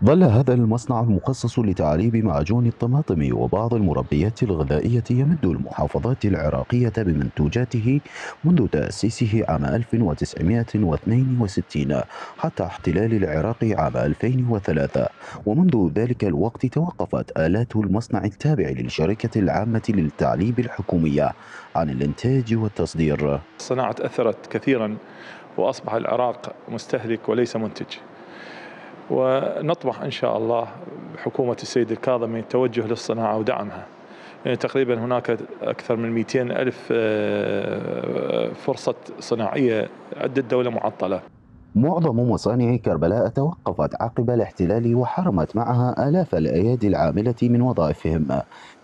ظل هذا المصنع المخصص لتعليب معجون الطماطم وبعض المربيات الغذائية يمد المحافظات العراقية بمنتوجاته منذ تأسيسه عام 1962 حتى احتلال العراق عام 2003، ومنذ ذلك الوقت توقفت آلات المصنع التابع للشركة العامة للتعليب الحكومية عن الإنتاج والتصدير. الصناعة تأثرت كثيرا وأصبح العراق مستهلك وليس منتج، ونطمح إن شاء الله بحكومة السيد الكاظمي التوجه للصناعة ودعمها. يعني تقريبا هناك أكثر من 200 ألف فرصة صناعية عند الدولة معطلة. معظم مصانع كربلاء توقفت عقب الاحتلال وحرمت معها آلاف الأيادي العاملة من وظائفهم،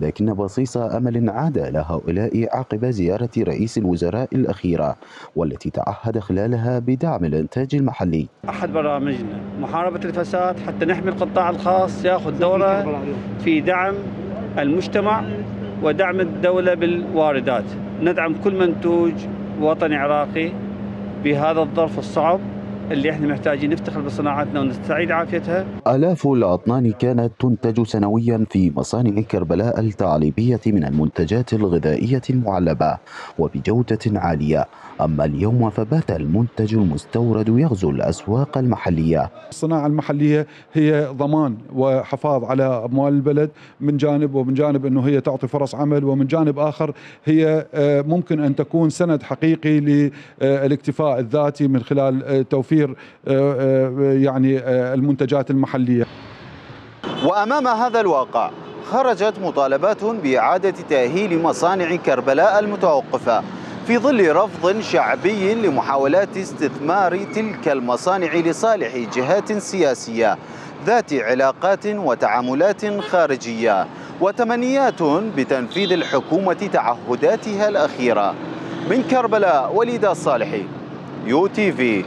لكن بصيص أمل عاد لهؤلاء عقب زيارة رئيس الوزراء الأخيرة والتي تعهد خلالها بدعم الإنتاج المحلي. أحد برامجنا محاربة الفساد حتى نحمي القطاع الخاص يأخذ دوره في دعم المجتمع ودعم الدولة بالواردات. ندعم كل منتوج وطني عراقي بهذا الظرف الصعب اللي احنا محتاجين نفتخر بصناعتنا ونستعيد عافيتها. آلاف الأطنان كانت تنتج سنويا في مصانع كربلاء التعليبية من المنتجات الغذائية المعلبة وبجودة عالية، أما اليوم فبات المنتج المستورد يغزو الأسواق المحلية. الصناعة المحلية هي ضمان وحفاظ على أموال البلد من جانب، ومن جانب أنه هي تعطي فرص عمل، ومن جانب آخر هي ممكن أن تكون سند حقيقي للاكتفاء الذاتي من خلال توفير يعني المنتجات المحلية. وأمام هذا الواقع خرجت مطالبات بإعادة تأهيل مصانع كربلاء المتوقفة في ظل رفض شعبي لمحاولات استثمار تلك المصانع لصالح جهات سياسية ذات علاقات وتعاملات خارجية، وتمنيات بتنفيذ الحكومة تعهداتها الأخيرة. من كربلاء وليد الصالحي، UTV.